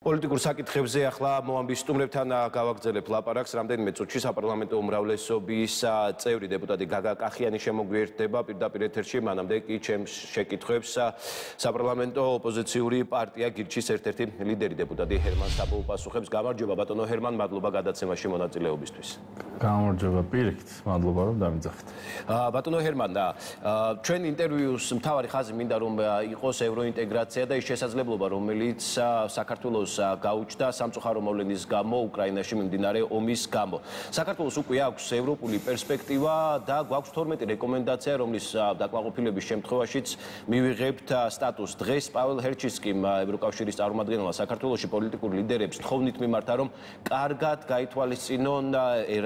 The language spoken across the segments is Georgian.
პოლიტიკურ საკითხებზე ახლა მოამბის სტუმრებთან გავაგრძელებ ლაპარაკს. რამდენიმე წუთში საპარლამენტო უმრავლესობის წევრი დეპუტატი გაგა კახიანი შემოგვიერთდება პირდაპირ ეთერში. მანამდე კი ჩემს შეკითხვებს საპარლამენტო ოპოზიციური პარტია გირჩის ერთ-ერთი ლიდერი დეპუტატი ჰერმან საპო უპასუხებს. გამარჯობა ბატონო ჰერმან, მადლობა გადაცემაში მონაწილეობისთვის. გამარჯობა პირიქით, მადლობა რომ დამიძახეთ. ბატონო ჰერმან, ჩვენ ინტერვიუს მთავარი ხაზი მინდა რომ იყოს ევროინტეგრაცია და ის შესაძლებლობა რომელიც საქართველოს გაუჩნდა სამწუხარო მოვლენის გამო უკრაინაში მიმდინარე ომის გამო. საქართველოს უკვე აქვს ევროპული პერსპექტივა და გვაქვს 12 რეკომენდაცია, რომლის დაკმაყოფილების შემთხვევაშიც მივიღებთ სტატუსს. დღეს პაველ ჰერჩისკიმ ევროკავშირის წარმომადგენელმა საქართველოში პოლიტიკურ ლიდერებს თხოვნით მიმართა, რომ კარგად გაითვალისწინონ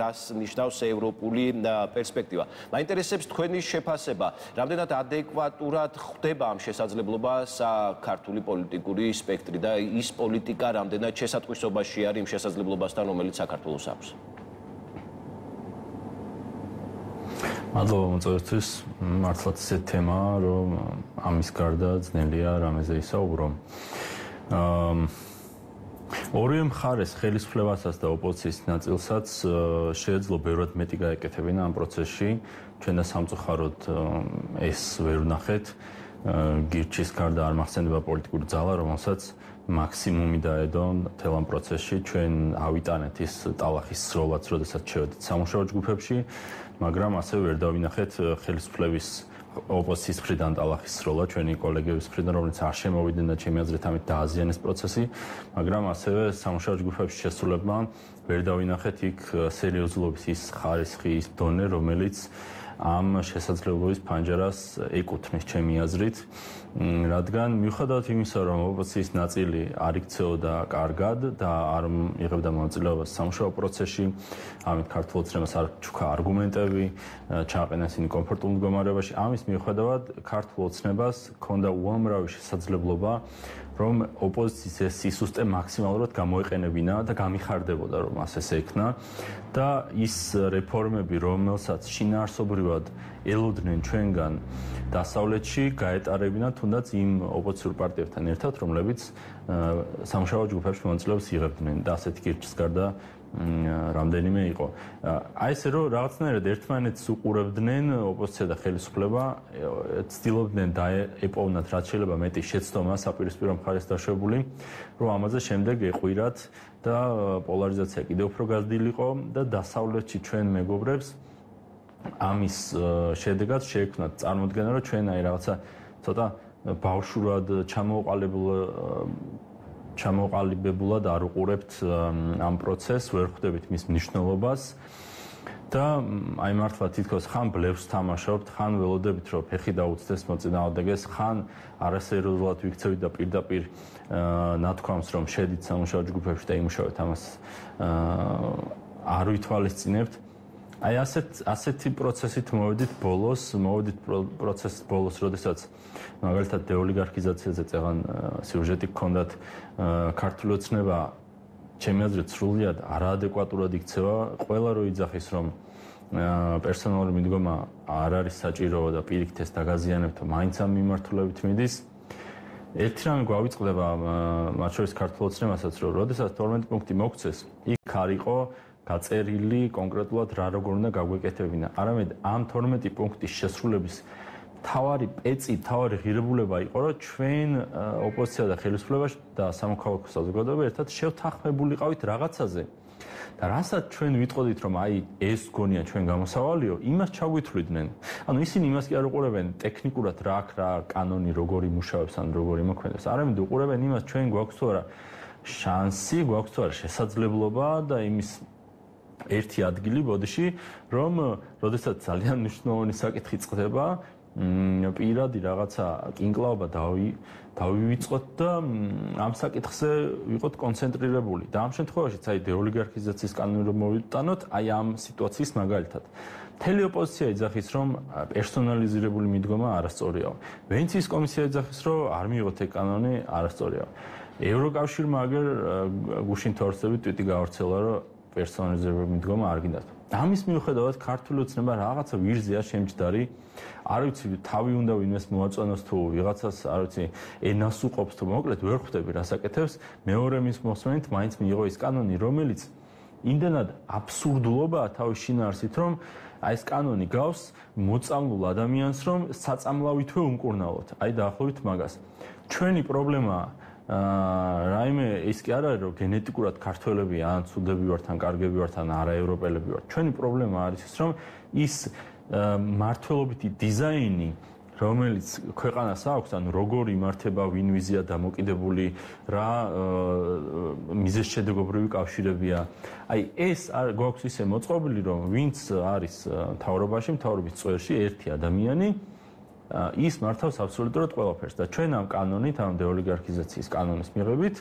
რას ნიშნავს ევროპული პერსპექტივა. მაინტერესებს თქვენი შეფასება, რამდენად ადეკვატურად ხვდება ამ შესაძლებლობას ქართული პოლიტიკური სპექტრი და ის პოლიტიკა რამდენად შესატყვისობაში არის იმ შესაძლებლობასთან, რომელიც საქართველოს აქვს. მადლობა მოწვევისთვის. მართლაც ეს თემაა, რომ ამის გარდა ძნელია რამეზე ისაუბრო. ორივე მხარეს ხელისუფლებასაც და ოპოზიციის ნაწილსაც შეეძლო ბევრად მეტი გაეკეთებინა ამ პროცესში. ჩვენ და სამწუხაროდ ეს ვერ ვნახეთ. გირჩის გარდა არ მახსენდება პოლიტიკური ძალა, რომელსაც მაქსიმუმი დაედო მთელ ამ პროცესში. ჩვენ ავიტანეთ ის ტალახის სროლაც, როდესაც შევედით სამუშაო ჯგუფებში, მაგრამ ასევე ვერ დავინახეთ ხელისუფლების ოპოზიციის მხრიდან ტალახის სროლა, ჩვენი კოლეგების მხრიდან, რომელიც არ შემოვიდნენ და ჩემი აზრით ამით დააზიანეს პროცესი, მაგრამ ასევე სამუშაო ჯგუფებში შესრულებმა ვერ დავინახეთ იქ სერიოზულობის ის ხარისხი, ის დონე, რომელიც ამ შესაძლებლობის ფანჯარას ეკუთვნის ჩემი აზრით, რადგან მიუხედავად იმისა, რომ ოპოზიციის ნაწილი არ იქცეოდა კარგად და არ იღებდა მონაწილეობას სამუშაო პროცესში, ამით ქართულ ოცნებას არ ჩუქა არგუმენტები, ჩააყენა ისინი კომფორტულ მდგომარეობაში, ამის მიუხედავად ქართულ ოცნებას ჰქონდა უამრავი შესაძლებლობა, რომ ოპოზიციის ეს სისუსტე მაქსიმალურად გამოეყენებინა და გამიხარდებოდა, რომ ასე ექნა და ის რეფორმები, რომელსაც შინაარსობრივად ელოდნენ ჩვენგან დასავლეთში, გაეტარებინა თუნდაც იმ ოპოზიციურ პარტიებთან ერთად, რომლებიც სამუშაო ჯგუფებში მონაწილეობას იღებდნენ და ასეთი გირჩის გარდა რამდენიმე იყო. აი ესე რომ რაღაცნაირად ერთმანეთს უყურებდნენ ოპოზიცია და ხელისუფლება, ცდილობდნენ დაეპოვნათ რაც შეიძლება მეტი შეცდომა საპირისპირო მხარეს დაშვებული, რომ ამაზე შემდეგ ეყვირათ და პოლარიზაცია კიდევ უფრო გაზრდილიყო და დასავლეთში ჩვენ მეგობრებს ამის შედეგად შეექმნათ წარმოდგენა, რომ ჩვენ აი რაღაცა ცოტა ბავშვურად ჩამოყალიბებულად არ უყურებთ ამ პროცესს, ვერ ხვდებით მის მნიშვნელობას და აი მართლა თითქოს ხან ბლევს თამაშობთ, ხან ველოდებით, რომ ფეხი დაუწდეს მოწინააღმდეგეს, ხან არასერიოზულად ვიქცევით და პირდაპირ ნათქვამს, რომ შედით სამუშაო ჯგუფებში და იმუშავეთ, ამას არ ვითვალისწინებთ. აი ასეთი პროცესით მოვედით პროცესის ბოლოს, როდესაც მაგალითად დეოლიგარქიზაციაზე წეღან სიუჟეტი გქონდათ, ქართული ოცნება ჩემი აზრით სრულიად არაადეკვატურად იქცევა. ყველა რო იძახის, რომ პერსონალური მიდგომა არ არის საჭირო და პირიქით ეს დაგაზიანებთ, მაინც ამ მიმართულებით მიდის. ერთი რამე გვავიწყდება მათ შორის ქართულ ოცნებასაც, რომ როდესაც 12 პუნქტი მოგცეს, იქ არ იყო გაწერილი კონკრეტულად რა როგორ უნდა გაგვეკეთებინა. არამედ ამ 12 პუნქტის შესრულების თავარი პეცი, თავარი ღირებულება იყო, რომ ჩვენ ოპოზიცია და ხელისუფლება და სამოქალაქო საზოგადოება ერთად შევთანხმებულიყავით რაღაცაზე. და რასაც ჩვენ ვიტყოდით, რომ აი ეს გონია ჩვენ გამოსავალიო, იმას ჩაგვითვლიდნენ. ანუ ისინი იმას კი არ უყურებენ ტექნიკურად რა აქვს, რა კანონი როგორი მუშაობს ან როგორი მოქმედებს. არამედ უყურებენ იმას, ჩვენ გვაქვს თუ არა შანსი, გვაქვს თუ არა შესაძლებლობა და იმის ერთი ადგილი ბოდიში, რომ როდესაც ძალიან მნიშვნელოვანი საკითხი წყდება, პირადი რაღაცა კინკლაობა დავივიწყოთ და ამ საკითხზე ვიყოთ კონცენტრირებული. და ამ შემთხვევაშიც აი დეოლიგარქიზაციის კანონი რომ მოვიტანოთ, აი ამ სიტუაციის მაგალითად. მთელი ოპოზიცია იძახის, რომ პერსონალიზირებული მიდგომა არასწორია. ვენეციის კომისია იძახის, რომ არ მიიღოთ ეგ კანონი, არასწორია. ევროკავშირმა აგერ გუშინ თორსებით ტვიტი გაავრცელა, რომ პერსონალიზებული მიდგომა არ გინდათ. ამის მიუხედავად ქართული ოცნება რაღაცა ვირზეა შემჯდარი. არ ვიცი, თავი უნდა ვინმეს მოაწონოს თუ ვიღაცას, არ ვიცი, ენას უყოფს თუ მოკლედ ვერ ხვდები რასაკეთებს. მეორე მის მოსმენით მაინც მიიღო ის კანონი, რომელიც იმდენად აბსურდულობაა თავის შინაარსით, რომ აი ეს კანონი გავს მოწამლულ ადამიანს, რომ საწამლავითვე უმკურნალოთ. აი დაახლოებით მაგას. ჩვენი პრობლემაა რაიმე ის კი არ არის რომ გენეტიკურად ქართველები ან ცუდები ვართ ან კარგები ვართ ან არაევროპელები ვართ. ჩვენი პრობლემა არის ის რომ ის მართლობითი დიზაინი რომელიც ქვეყანას აქვს, ანუ როგორ იმართება, ვინ ვიზია დამოკიდებული, რა მიზეზშედეგობრივი კავშირებია. აი ეს გვაქვს ისე მოწყობილი, რომ ვინც არის მთავრობაში, მთავრობის წვერში ერთი ადამიანი ის მართავს აბსოლუტურად ყველაფერს და ჩვენ ამ კანონით, ამ დეოლიგარქიზაციის კანონის მიღებით,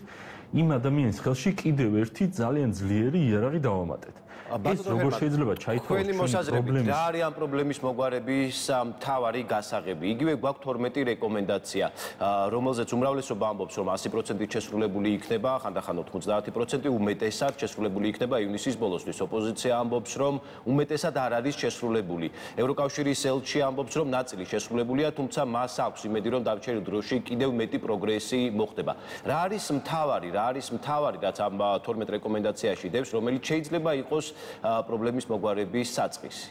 იმ ადამიანის ხელში კიდევ ერთი ძალიან ძლიერი იარაღი დავამატეთ. ეს როგორ შეიძლება ჩაითვალოს ჩვენი მოსაზრებით რა არის ამ პრობლემის მოგვარების მთავარი გასაღები? იგივე გვაქვს 12 რეკომენდაცია, რომელზეც უმრავლესობა ამბობს, რომ 100% შესრულებული იქნება, ხანდახან 90% უმეტესად შესრულებული იქნება ივნისის ბოლოსთვის. ოპოზიცია ამბობს, რომ უმეტესად არ არის შესრულებული. ევროკავშირის ელჩი ამბობს, რომ ნაწილი შესრულებულია, თუმცა მას აქვს იმედი, რომ დარჩენილ დროში კიდევ მეტი პროგრესი მოხდება. რა არის მთავარი, რაც ამ 12 რეკომენდაციაში დევს, რომელიც შეიძლება იყოს პრობლემის მოგვარების საწყისი.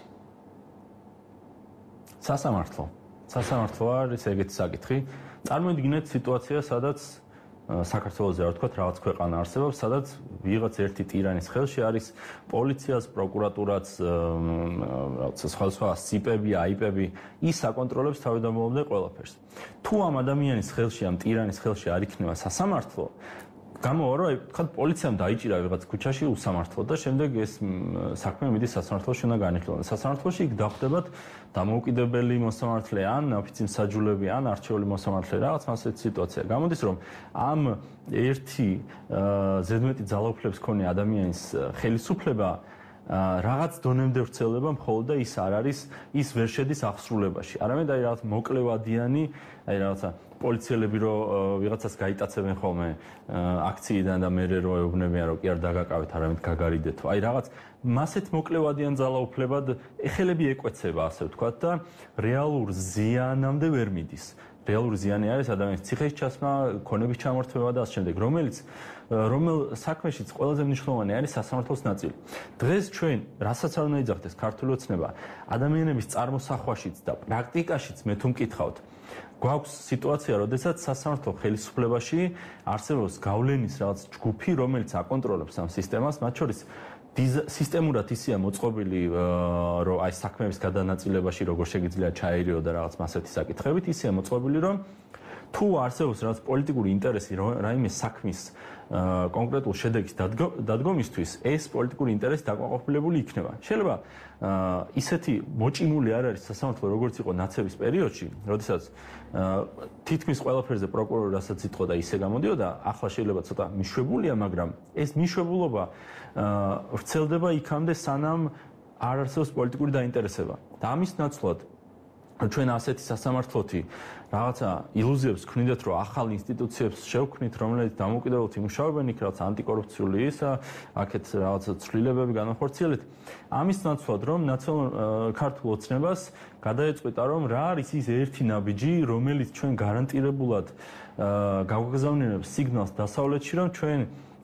სასამართლო არის ეგეთი საკითხი. წარმოიდგინეთ სიტუაცია, სადაც საქართველოს რა ვთქვათ, რაღაც ქვეყანა არსებობს, სადაც ვიღაც ერთი ტირანის ხელში არის პოლიციას, პროკურატურაც, რაღაც სხვა სიპები, აიპები, ის აკონტროლებს თავდამოწმე ყველაფერს. თუ ამ ადამიანის ხელში, ამ ტირანის ხელში არ იქნება სასამართლო, გამოვა რომ თქვა პოლიციამ დაიჭირა ვიღაც ქუჩაში უსამართლო და შემდეგ ეს საქმე მიდის სასამართლოში უნდა განიხილოს. სასამართლოში იქ დახვდებათ დამოუკიდებელი მოსამართლე ან ოფიციის მსაჯულები ან არჩეული მოსამართლე რაღაც ასეთი სიტუაცია. გამოდის რომ ამ ერთი ზედმეტი ძალაუფლების მქონე ადამიანის ხელისუფლება რაღაც დონემდე ვრცელდება მხოლოდ და ის არ არის ის ვერ შედის აღსრულებაში. არამედ აი რაღაც მოკლევადიანი, აი რაღაცა პოლიციელები რო ვიღაცას გაიტაცებენ ხოლმე აქციიდან და მერე რო ეუბნებიან რომ კი არ დაგაკავეთ, არამედ გაგარიდეთო. აი რაღაც მასეთ მოკლევადიან ძალაუფლებად ეხელები ეკვეცება, ასე ვთქვათ და რეალურ ზიანამდე ვერ მიდის. რეალური ზიანი არის ადამიანის ციხეში ჩასმა, ქონების ჩამორთმევა და ასე შემდეგ, რომელ საქმეშიც ყველაზე მნიშვნელოვანი არის სასამართლოს ნაწილი. დღეს ჩვენ რასაც არ უნდა იძახდეს ქართული ოცნება, ადამიანების წარმოსახვაშიც და პრაქტიკაშიც მე თუ მკითხავთ, გვაქვს სიტუაცია, როდესაც სასამართლო ხელისუფლებაში არსებობს გავლენის რაღაც ჯგუფი, რომელიც აკონტროლებს ამ სისტემას, მათ შორის სისტემურად ისეა მოწყობილი, რომ აი საქმეების გადანაწილებაში როგორ შეგიძლია ჩაერიო და რაღაც მასეთი საკითხებით, ისეა მოწყობილი, რომ თუ არსებობს რაღაც პოლიტიკური ინტერესი რაიმე საქმის კონკრეტულ შედეგის დადგომისთვის, ეს პოლიტიკური ინტერესი დაკმაყოფილებული იქნება. შეიძლება ისეთი მოჭიმული არ არის სასამართლო, როგორც იყო ნაცების პერიოდში, როდესაც თითქმის ყველაფერზე პროკურორი რასაც იტყოდა, ისე გამოდიოდა, ახლა შეიძლება ცოტა მიშვებულია, მაგრამ ეს მიშვებულობა ვრცელდება იქამდე, სანამ არ არსებობს პოლიტიკური დაინტერესება. და ამის ნაცვლად ჩვენ ასეთი სასამართლოთი რაღაცა ილუზიებს ვქნიდეთ, რომ ახალ ინსტიტუციებს შევქმნით, რომლებიც დამოუკიდებლად იმუშავებენ, იქ რაღაც ანტიკორუფციული ისა, აქეთ რაღაცა ცვლილებები განახორციელეთ. ამის ნაცვლად, რომ ქართულ ოცნებას გადაეწყვიტა, რომ რა არის ის ერთი ნაბიჯი, რომელიც ჩვენ გარანტირებულად გავგზავნებთ სიგნალს დასავლეთში, რომ ჩვენ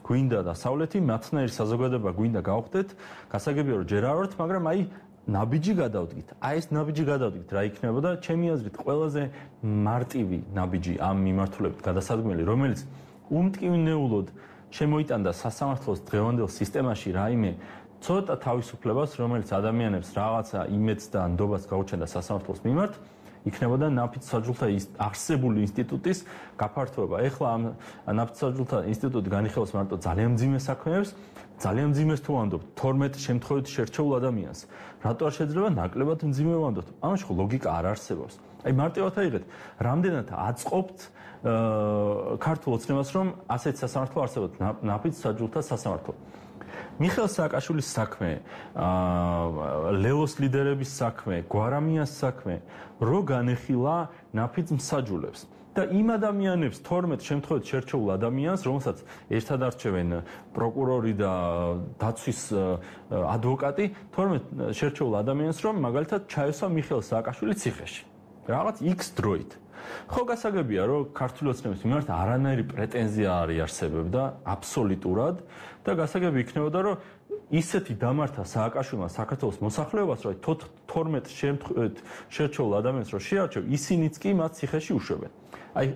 გვინდა დასავლეთი, მათნაირი საზოგადოება გვინდა გავხდეთ, გასაგებია რომ ჯერ არ ვართ, მაგრამ აი ნაბიჯი გადავდგით. აი ეს ნაბიჯი გადავდგით, რა იქნებოდა? ჩემი აზრით, ყველაზე მარტივი ნაბიჯი ამ მიმართულებით გადასადგმელი, რომელიც უმტკივნეულოდ შემოიტანდა სასამართლოს დღევანდელ სისტემაში რაიმე ცოტა თავისუფლებას, რომელიც ადამიანებს რაღაცა იმედს და ნდობას გაუჩენდა სასამართლოს მიმართ, იქნებოდა ნაფიც-საჯულთა არსებული ინსტიტუტის გაფართოება. ეხლა ამ ნაფიც-საჯულთა ინსტიტუტი განიხილავს მარტო ძალიან მძიმე საქმეებს, ძალიან მძიმეს თუ ვანდობთ 12 შემთხვევით შერჩეულ ადამიანს. რატო არ შეიძლება ნაკლებად მძიმე ვანდობთ? ამაში ხო ლოგიკა არ არსებობს. აი მარტივად აიღეთ, რამდენად აწყობთ ქართულ ოცნებას, რომ ასეთ სასამართლო არსებობს, ნაფიც-საჯულთა სასამართლო. მიხეილ სააკაშვილის საქმე, ლელოს ლიდერების საქმე, გვარამიას საქმე, რო განეხილა ნაფიც-მსაჯულებს. და იმ ადამიანებს 12 შემთხვევით შერჩეულ ადამიანს, რომელსაც ერთად არჩევენ პროკურორი და დაცვის ადვოკატი, 12 შერჩეულ ადამიანს, რომ მაგალითად ჩაესვა მიხეილ სააკაშვილი ციხეში. რაღაც X დროით. ხო გასაგებია, რომ ქართული ოცნების მიმართ არანაირი პრეტენზია არ იარსებებდა აბსოლუტურად და გასაგები იქნებოდა, რომ ისეთი დამართა სააკაშვილმა საქართველოს მოსახლეობას, რომ 12 შემთხვევით შერჩეულ ადამიანს რო შეარჩევ, ისინიც კი მათ ციხეში უშვებენ. აი,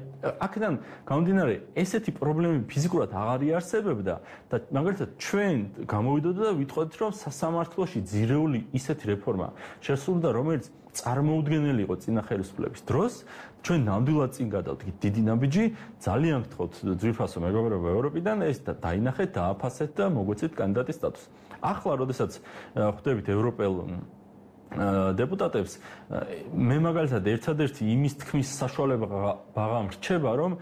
აქედან გამომდინარე, ესეთი პრობლემები ფიზიკურად აღარ იარსებებდა და მაგალითად ჩვენ გამოვიდოდა და ვიტყოდით, რომ სასამართლოში ძირეული ისეთი რეფორმა შესრულდა, რომელიც წარმოუდგენელი იყო წინა ხელისუფლების დროს, ჩვენ ნამდვილად წინ გადავდგით დიდი ნაბიჯი, ძალიან გთხოვთ ძვირფასო მეგობრებო ევროპიდან ეს დაინახეთ, დააფასეთ და მოგვეცეთ კანდიდატის სტატუსი. ახლა, როდესაც ხვდებით ევროპელ დეპუტატებს, მე მაგალითად ერთადერთი იმის თქმის საშუალება ვაღამრჩება, რომ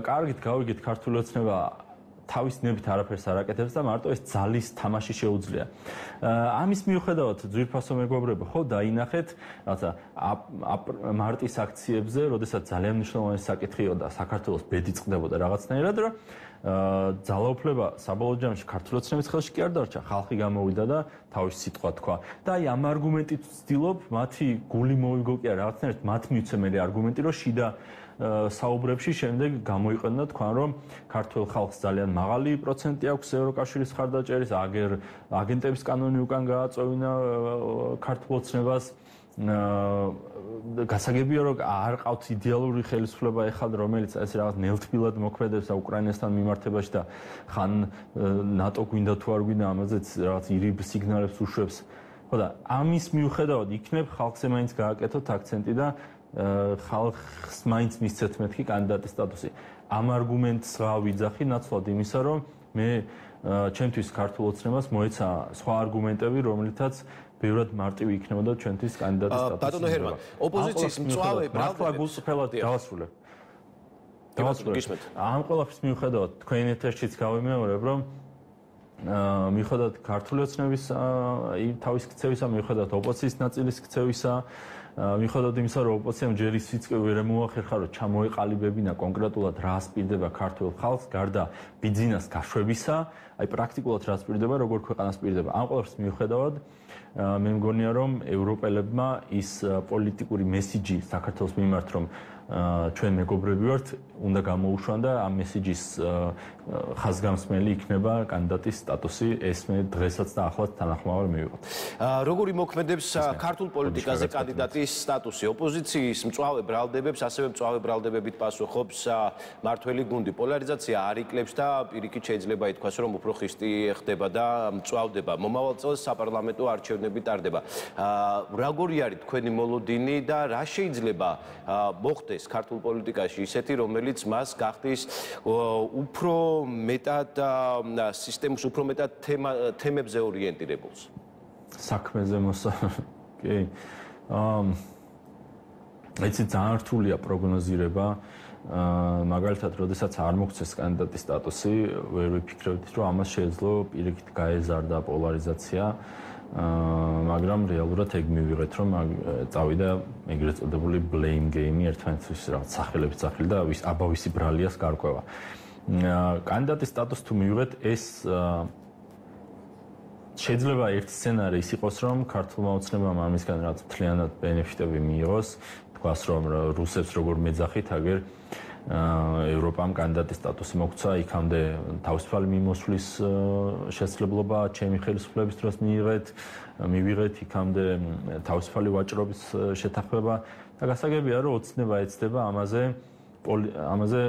კარგით გავიგეთ ქართული ოცნება თავის ნებით არაფერს არ აკეთებს და მარტო ეს ძალის თამაში შეუძლია. ამის მიუხედავად ძვირფასო მეგობრებო, ხო დაინახეთ, რაღაცა მარტის აქციებზე, როდესაც ძალიან მნიშვნელოვანი საკითხი იყო და საქართველოს ბედი წყდებოდა რაღაცნაირად, რომ ძალაუფლება საბოლოო ჯამში ქართული ოცნების ხელში კი არ დარჩა, ხალხი გამოვიდა და თავის სიტყვა თქვა. და აი ამ არგუმენტით ვცდილობ მათი გული მოვიგო კი არა, რაღაცნაირად მათ მივცემელი არგუმენტი, რომ შიდა საუბრებში შემდეგ გამოიყენა და თქვა, რომ ქართულ ხალხს ძალიან მაღალი პროცენტი აქვს ევროკავშირის ხარდაჭერის, აგენტების კანონი უკან გააწოვინა ქართულ ოცნებას. გასაგებია, რომ არ ყავთ იდეალური ხელისუფლება ეხლა, რომელიც ეს რაღაც ნელთბილად მოქმედებს უკრაინასთან მიმართებაში და ხან ნატო გვინდა თუ არ გვინდა, ამაზეც რაღაც ირიბ სიგნალებს უშვებს. ხო და ამის მიუხედავად იქნებ ხალხზე მაინც გააკეთოთ აქცენტი და ხალხს მაინც მისცეთ მეთქი კანდიდატის სტატუსი. ამ არგუმენტს ვიძახი ნაცვლად იმისა, რომ მე ჩემთვის ქართულ ოცნებას მოეცა სხვა არგუმენტები, რომლითაც ბევრად მარტივი იქნებოდა ჩვენთვის კანდიდატის სტატუსი. ბატონო ჰერმან, ოპოზიციის მწვავე მართლა გულწრფელად დავასრულებ. ამ ყველაფრის მიუხედავად თქვენ ეთერშიც გავიმეორებ, რომ მიუხედავად ქართული ოცნების თავის ქცევისა, მიუხედავად ოპოზიციის ნაწილის ქცევისა, მიუხედავად იმისა, რომ ოპოზიციამ ჯერ ისიც ვერ მოახერხა, რომ ჩამოეყალიბებინა კონკრეტულად რა ასპირდება ქართულ ხალხს, გარდა ბიძინას გაშვებისა, აი პრაქტიკულად რა ასპირდება, როგორ ქვეყანას პირდება. ამ ყველაფრის მიუხედავად მე მგონია, რომ ევროპელებმა ის პოლიტიკური მესიჯი საქართველოს მიმართ, რომ ჩვენ მეგობრები ვართ, უნდა გამოუშვან და ამ მესიჯის ხაზგამსმელი იქნება კანდიდატის სტატუსი, ეს მე დღესაც და ახლაც თანახმოვარ მივიღოთ. როგორი მოქმედებს ქართულ პოლიტიკაზე კანდიდატის სტატუსი? ოპოზიციის მწვავე ბრალდებებს, ასევე მწვავე ბრალდებებით პასუხობს მართველი გუნდი. პოლარიზაცია არ იკლებს და პირიქით შეიძლება ითქვას, რომ უფრო ხისტი ხდება და მწვავდება. მომავალ წელს საპარლამენტო არჩევნები ტარდება. როგორი არის თქვენი მოლოდინი და რა შეიძლება მოხდეს ქართულ პოლიტიკაში ისეთი, რომელიც მას გახდის უფრო მეტად სისტემის, უფრო მეტად თემებზე ორიენტირებულს. საქმეზე კი. ეცი ძალიან რთულია პროგნოზირება. მაგალითად, როდესაც არ მოგცეს კანდიდატის სტატუსი, ვერ ვიფიქრებთ, რომ ამას შეეძლო პირიქით გაეზარდა პოლარიზაცია. მაგრამ რეალურად ეგ მივიღეთ, რომ წავიდა ეგრეთ წოდებული blame game ერთმანეთის რაღაც სახელებით სახელი და აბავისი ბრალიას გარკვევა. კანდიდატის სტატუსს თუ მივიღეთ, ეს შეიძლება ერთი სცენარი ის იყოს, რომ ქართულმა ოცნებამ ამისგან რაღაც მთლიანად ბენეფიტები მიიღოს, თქვას, რომ რუსებს როგორ მეძახით, აგერ ევროპამ კანდიდატის სტატუსი მოგცა, იქამდე თავისუფალი მიმოსვლის შესაძლებლობა ჩემი ხელისუფლების დროს მივიღეთ, იქამდე თავისუფალი ვაჭრობის შეთანხმება და გასაგებია, რომ ოცნება ეცდება ამაზე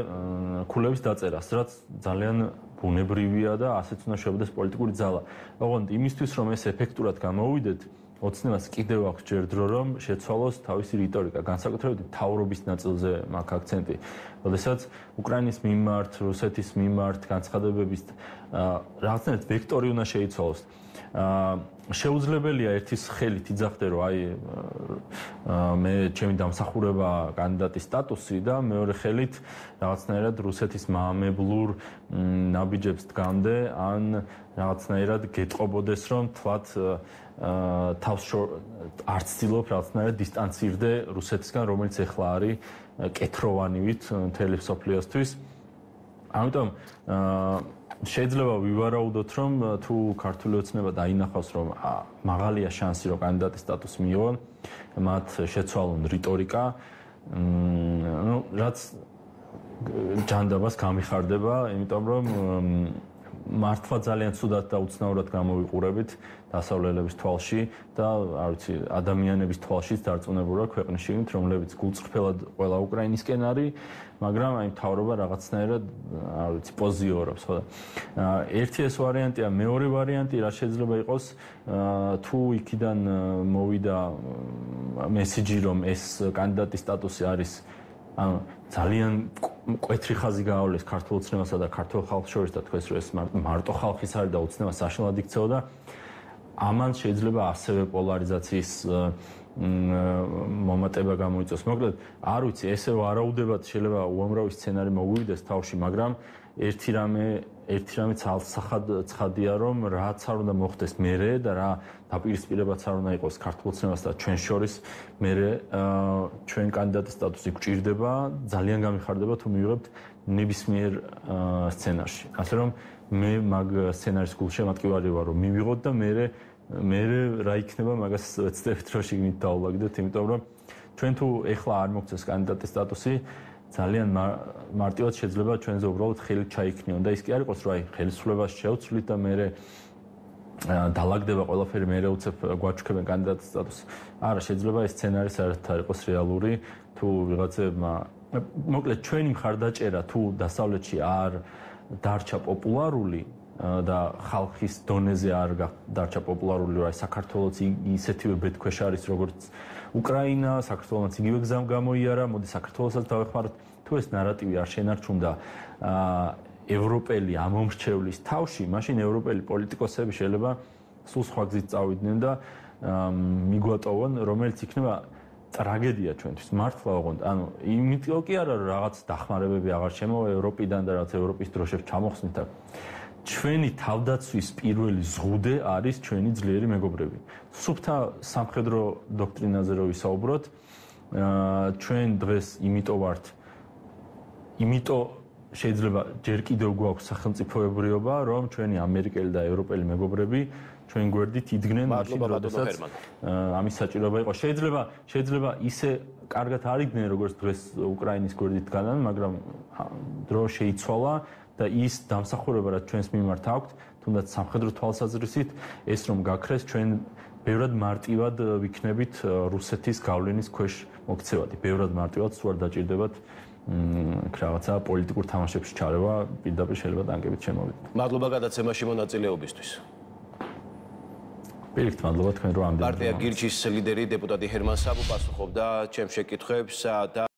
ქულების დაწერას, რაც ძალიან ბუნებრივია და ასეც უნდა შეებდეს პოლიტიკური ძალა. ოღონდ იმისთვის, რომ ეს ეფექტურად გამოუვიდეთ, ოცნებას კიდევ აქვს ჯერ დრო, რომ შეცვალოს თავისი რიტორიკა, განსაკუთრებით მთავრობის ნაწილზე მაქვს აქცენტი. როდესაც უკრაინის მიმართ, რუსეთის მიმართ განცხადებების რაღაცნაირად ვექტორი უნდა შეიცვალოს. შეუძლებელია ერთის ხელით იძახდე რომ აი მე ჩემი დამსახურება კანდიდატის სტატუსი და მეორე ხელით რაღაცნაირად რუსეთის მაამებლურ ნაბიჯებს დგამდე ან რაღაცნაირად გეტყობოდეს რომ თვათ თავს არც ცდილობ რაღაცნაირად დისტანცირდე რუსეთისგან რომელიც ეხლა არის კეთროვანივით მთელი მსოფლიოსთვის ამიტომ შეიძლება ვივარაუდოთ რომ თუ ქართული ოცნება დაინახავს რომ მაღალია შანსი რომ კანდიდატის სტატუსი მიიღონ მათ შეცვალონ რიტორიკა რაც ჯანდაბას გამიხარდება იმიტომ რომ მართლა ძალიან ცუდად და უცნაურად გამოვიყურებით დასავლელების თვალში და არ ვიცი ადამიანების თვალშიც დარწმუნებულა ქვეყნის შიგნით რომლებიც გულწრფელად ყველა უკრაინისკენ არის მაგრამ აი მთავრობა რაღაცნაირად არ ვიცი პოზიორობს ხო და ერთი ეს ვარიანტია მეორე ვარიანტი რა შეიძლება იყოს თუ იქიდან მოვიდა მესიჯი რომ ეს კანდიდატის სტატუსი არის ანუ ძალიან მკვეთრი ხაზი გაავლეს ქართულ ოცნებასა და ქართულ ხალხს შორის და თქვენს რომ ეს მარტო ხალხის არის და ოცნება საშინლად იქცეოდა ამან შეიძლება ასევე პოლარიზაციის მომატება გამოიწვიოს. მოკლედ, არ ვიცი, ესე ვარაუდებად შეიძლება უამრავი სცენარი მოგვივიდეს თავში, მაგრამ ერთი რამე ცალსახად ცხადია, რომ რაც არ უნდა მოხდეს მერე და რა დაპირისპირებაც არ უნდა იყოს ქართულ ოცნებას და ჩვენ შორის მერე ჩვენ კანდიდატის სტატუსი გვჭირდება, ძალიან გამიხარდება თუ მივიღებთ ნებისმიერ სცენარში. ასე რომ მე მაგ სცენარის გულში მატკივარი ვარ, რომ მივიღოთ და მე რა იქნება მაგას ვეცდებით რომ შიგნით დაულაგდეთ, იმიტომ რომ ჩვენ თუ ეხლა არ მოგწეს კანდიდატის სტატუსი, ძალიან მარტივად შეიძლება ჩვენზე უბრალოდ ხელი ჩაიქნიონ და ის კი არ იყოს რომ აი ხელისუფლებას შევცვლით და მე დალაგდება ყველაფერი მე უცებ გვაჩქებენ კანდიდატის სტატუსი. არა, შეიძლება ეს სცენარი საერთოდ არ იყოს რეალური, თუ ვიღაცებმა მოკლედ ჩვენი მხარდაჭერა თუ დასავლეთში არ დარჩა პოპულარული და ხალხის დონეზე არ დარჩა პოპულარული, რომ აი საქართველოს ისეთივე ბედქვეშ არის როგორც უკრაინა, საქართველოს იგივე გზამ გამოიარა, მოდი საქართველოსაც დავეხმაროთ. თუ ეს ნარატივი არ შენარჩუნდა ევროპელი ამომრჩევლის თავში, მაშინ ევროპელი პოლიტიკოსები შეიძლება სულ სხვა გზით წავიდნენ და მიგვატოვონ, რომელიც იქნება ტრაგედია ჩვენთვის. მართლა ოღონდ, ანუ იმიტომ კი არა, რომ რაღაც დახმარებები აღარ შემოვა ევროპიდან და რაღაც ევროპის დროშებს ჩამოხსნით და ჩვენი თავდაცვის პირველი ზღუდე არის ჩვენი ძლიერი მეგობრები. სუფთა სამხედრო დოქტრინაზე რო ვისაუბროთ, ჩვენ დღეს იმიტომ შეიძლება ჯერ კიდევ გვაქვს სახელმწიფოებრიობა, რომ ჩვენი ამერიკელი და ევროპელი მეგობრები ჩვენ გვერდით იდგნენ მაშინ, როდესაც ამის საჭიროება იყო. შეიძლება ისე კარგად არ იდგნენ, როგორც დღეს უკრაინის გვერდით დგანან, მაგრამ დრო შეიცვალა და ის დამსახურება, რაც ჩვენს მიმართ აქვთ, თუნდაც სამხედრო თვალსაზრისით, ეს რომ გაქრეს, ჩვენ ბევრად მარტივად ვიქნებით რუსეთის გავლენის ქვეშ მოქცევადი. ბევრად მარტივად სულ არ დაჭირდებათ რაღაცა პოლიტიკურ თამაშებში ჩარევა, პირდაპირ შეიძლება ტანკებით შემოვიდეთ. მადლობა გადაცემაში მონაწილეობისთვის. პირიქით, მადლობა თქვენ რომ ამდენ. პარტია გირჩის ლიდერი დეპუტატი ჰერმან საბუ პასუხობდა ჩემს შეკითხვებს და